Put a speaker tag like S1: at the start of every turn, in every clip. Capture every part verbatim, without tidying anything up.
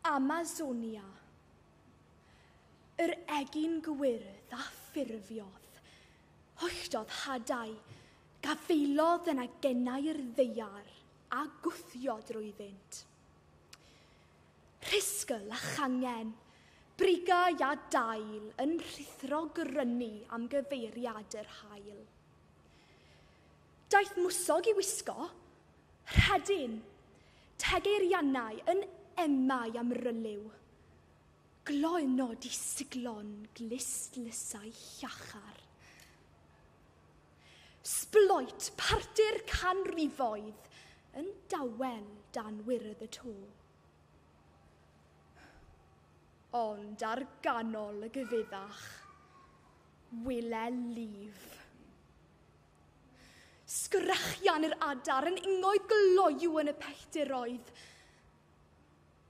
S1: Amazonia. Yr egin gwyrdd a ffurfiodd, holltodd hadau, gafeilodd yn agennau'r ddaear a gwthio drwyddynt. Rhisgl a changen, brigau a dail yn rhuthro grynu am gyfeiriad yr haul. Daeth mwsog i wisgo, rhedyn, tegeirianau yn emau am ryliw. Gloynod i siglon glust-lysau llachar. Sbloet partir canrifoedd yn dawel dan wyrdd y to. Ond ar ganol y gyfeddach, wele lif. Sgrechian yr adar yn ingoedd gloyw yn y pelltiroedd.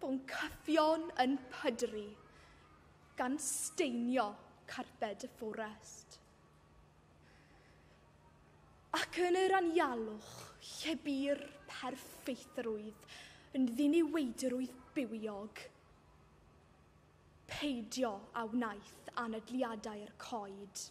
S1: Boncyffion yn pydru, gan steinio carped y fforest. Ac yn yr anialwch, lle bu'r perffeithrwydd yn ddiniweidrwydd bywiog, peidio a wnaeth anadliadau'r coed.